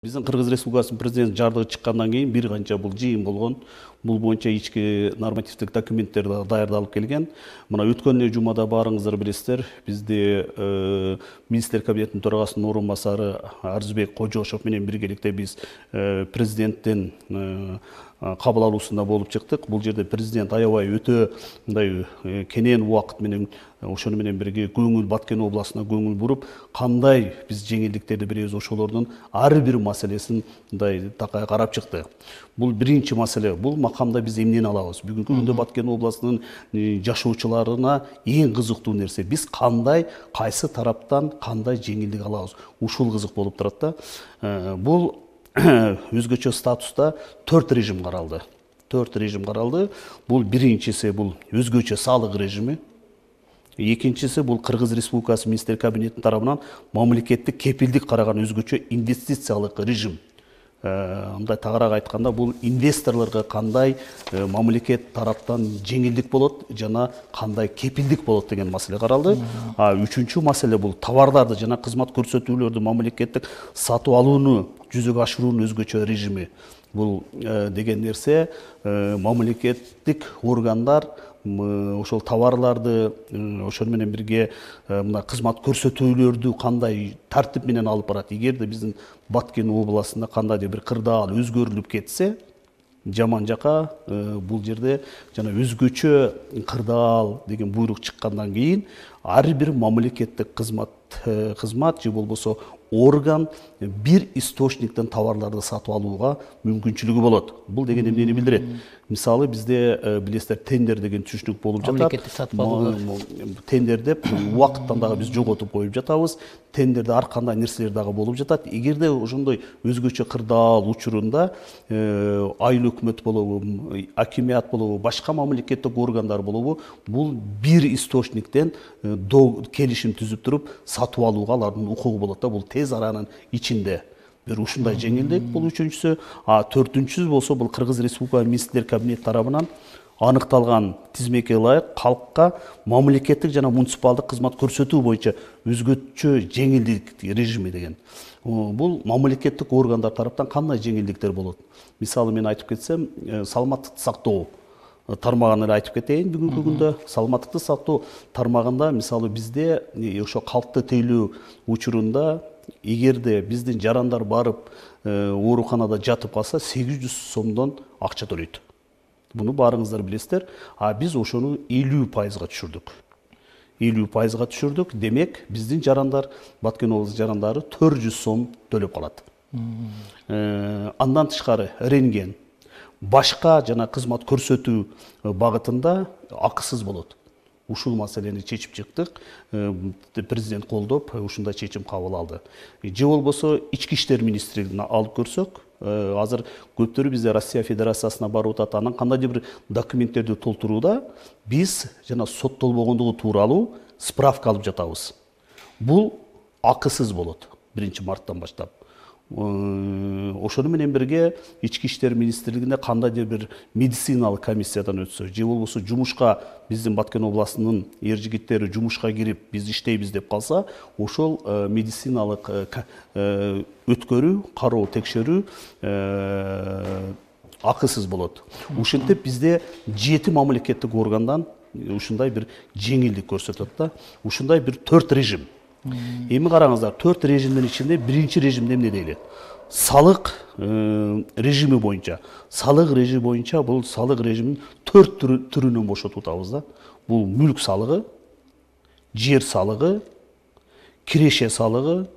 Биздин Кыргыз Республикасынын президенти жардыгы чыккандан кийин бир канча бул жыйын болгон. Бул боюнча ички нормативдик документтер даярдалып келген. Мына өткөн жумада баарыңыздар билесиздер, бизде министр кабинетинин төрагасынын орун басары Арзыбек Кожошов менен биргеликте биз президенттин кабыл алуусунда болуп чыктык. Бул жерде президент аябай өтө мындай кенен убакыт менен ошону менен бирге көңүл Баткен областына көңүл буруп, кандай биз жеңилдиктерди беребиз, ошолордун ар бир маселесин мындай такай карап чыкты. Бул биринчи маселе. Бул макамда биз эмнени алабыз? Бүгүнкү күндө Баткен областынын жашоочуларына эң кызыктуу нерсе биз кандай, кайсы тараптан кандай жеңилдик алабыз? Ушул кызык болуп турат да. Бул өзгөчө статуста 4 режим каралды. 4 режим каралды. Бул биринчиси бул өзгөчө салык режими. Экинчиси бул Кыргыз Республикасы министр кабинетинин тарабынан мамлекеттик кепилдик караган өзгөчө инвестициялык режим. Мындай тагыраак айтканда, бул инвесторлорго кандай мамлекет тараптан жеңилдик болот жана кандай кепилдик болот деген маселе каралды. Үчүнчү маселе бул товарларды жана кызмат көрсөтүүлөрдү мамлекеттик сатып алууну жүзөгө ашыруунун өзгөчө режими. Бул деген нерсе мамлекеттик органдар ошол товарларды ошону менен бирге мына кызмат көрсөтүүлөрдү кандай тартип менен алып барат. Эгерде биздин Баткен областында кандайдыр бир кырдаал өзгөрүлүп кетсе, жаман жака бул жерде жана өзгөчө кырдаал деген буйрук чыккандан кийин ар бир мамлекеттик кызмат же болбосо орган бир источниктен товарларды сатып алууга мүмкүнчүлүгү болот. Бул деген эмнени билдирет? Мисалы бизде билесиздер тендер деген түшүнүк болуп жатат. Мамлекеттик сатып алуулар. Тендер деп убакыттан дагы биз жоготуп коюп жатабыз. Тендерде ар кандай нерселер дагы болуп жатат. Эгерде ошондой өзгөчө кырдаал учурунда айыл өкмөт болобу, акимият болобу, башка мамлекеттик органдар болобу, бул бир источниктен келишим түзүп туруп сатып алууга алардын укугу болот да. Бул тез аранын ичинде бир ушундай жеңилдик. Бул үчүнчүсү. Төртүнчүсү болсо бул Кыргыз Республика министрлер кабинети тарабынан аныкталган тизмеке ылайык калкка мамлекеттик жана муниципалдык кызмат көрсөтүү боюнча өзгөчө жеңилдик режими деген. Бул мамлекеттик органдар тараптан кандай жеңилдиктер болот? Мисалы мен айтып кетсем, саламаттыкты сактоо тармагын эле айтып кетейин. Бүгүнкү күндө саламаттыкты сактоо тармагында мисалы бизде ошо калкты тейлөө учурунда эгерде биздин жарандар барып ооруканада жатып калса 800 сомдон акча төлөйт. Буну баарыңыздар билесиздер. Биз ошону 50%га түшүрдүк. 50%га түшүрдүк. Демек, биздин жарандар, Баткен облусу жарандары 400 сом төлөп калат. Андан тышкары рентген, башка жана кызмат көрсөтүү багытында акысыз болот. Ушул маселени чечип чыктык. Президент колдоп, ушундай чечим кабыл алды. Же болбосо ички иштер министрлигине алып көрсөк, азыр көптөрү бизде Россия Федерациясына барып атат, анан кандайдыр бир документтерди толтурууда биз жана соттолбогондугу тууралуу справка алып жатабыз. Бул акысыз болот 1-марттан баштап. Ошону менен бирге ички иштер министрлигинде кандайдыр бир медициналык комиссиядан өтсө, же болбосо жумушка биздин Баткен областынын эр жигиттери жумушка кирип биз иштейбиз деп калса, ошол медициналык өткөрүү, кароо, текшерүү акысыз болот. Ушинтип бизде 7 мамлекеттик органдан ушундай бир жеңилдик көрсөтөт да. Ушундай бир 4 режим. Эми караңыздар, 4 режимдин ичинде биринчи режимде эмне дейли? Салык режими боюнча. Салык режими боюнча бул салык режимин 4 түрүнөн бошотуп атабыз да. Бул мүлк салыгы, жер салыгы, киреше салыгы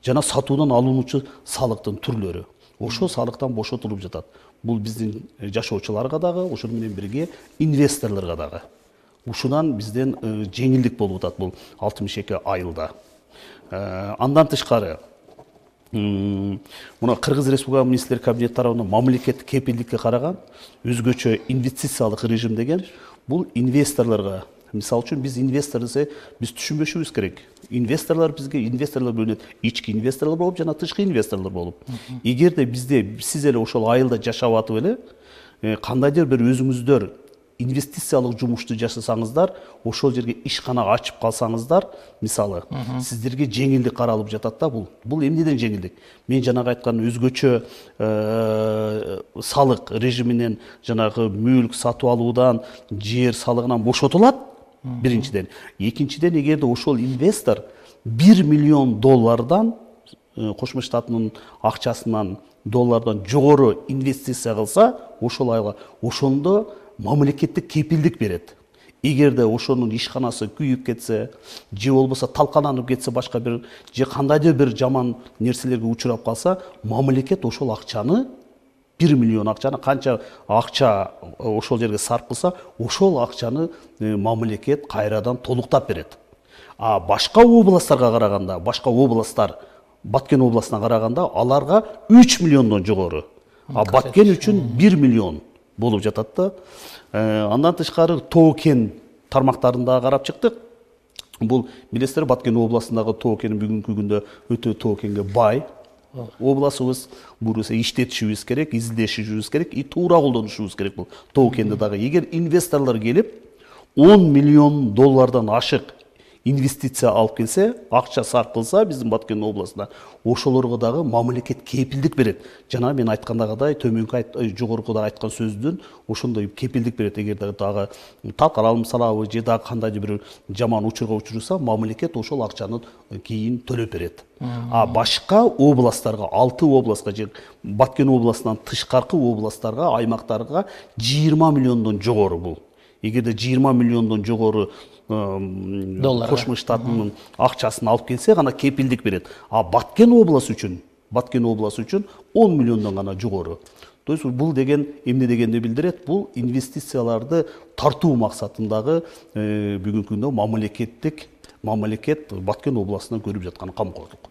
жана сатуудан алынуучу салыктын түрлөрү. Ошол салыктан бошотулуп жатат. Бул биздин жашоочуларга дагы, ошону менен бирге инвесторлорго дагы. Ушунан бизден жеңилдик болуп атат бул 62 айылда. Андан тышкары мына Кыргыз Республика министрлер кабинети тарабынан мамлекеттик кепилдикке караган өзгөчө инвестициялык режим деген бул инвесторлорго. Мисалы үчүн биз инвестор десе биз түшүнбөшүбүз керек. Инвесторлор бизге инвесторлор бөлүнөт. Ички инвесторлор болуп жана тышкы инвесторлор болуп. Эгерде бизде сиз эле ошол айылда жашап атып эле кандайдыр бир өзүңүздөр инвестициялык жумушту жасасаңыздар, ошол жерге ишкана ачып калсаңыздар, мисалы, сиздерге жеңилдик каралып жатат да. Бул эмнеден жеңилдик? Мен жанагы айткан өзгөчө салык режиминен, жанагы мүлк сатып алуудан, жер салыгынан бошотулат. Биринчиден. Экинчиден, эгерде ошол инвестор $1 миллион Кошмо Штаттын акчасынан доллардан жогору инвестиция кылса, ошондо мамлекеттик кепилдик берет. Эгерде ошонун ишканасы күйүп кетсе, же болбосо талкаланып кетсе, башка бир же кандайдыр бир жаман нерселерге учурап калса, мамлекет ошол акчаны, 1 миллион акчаны, канча акча ошол жерге сарп кылса, ошол акчаны мамлекет кайрадан толуктап берет. А башка областтарга караганда, башка областтар Баткен областына караганда, аларга 3 миллиондон жогору. А Баткен үчүн 1 миллион болуп жатат да. Андан тышкары Тоо-Кен тармактарында карап чыктык. Бул билесиздер, Баткен областындагы Тоо-Кен бүгүнкү күндө өтө Тоо-Кенге бай обласыбыз. Буруса иштетишибиз керек, изилдешибиз керек, и туура колдонушубуз керек бул Тоо-Кенди дагы. Эгер инвесторлор келип $10 миллион ашык инвестиция алып келсе, акча сарп кылса биздин Баткен областына, ошолорго дагы мамлекет кепилдик берет. Жана мен айткандагыдай, жогоркуда айткан сөздүн ошондой кепилдик берет. Эгер дагы талкаланып салабы же дагы кандайдыр бир жаман учурга учурса, мамлекет ошол акчаны кийин төлөп берет. А башка областтарга, 6 областка же Баткен областынан тышкаркы областтарга, аймактарга 20 миллиондон жогору бул. Эгерде 20 миллиондон жогору Кошмо Штаттын акчасын алып келсе, гана кепилдик берет. А Баткен областы үчүн 10 миллиондон гана жогору. То есть бул деген эмне дегенди билдирет? Бул инвестицияларды тартуу максатындагы бүгүнкү күндө мамлекет Баткен областына көрүп жаткан камкордук.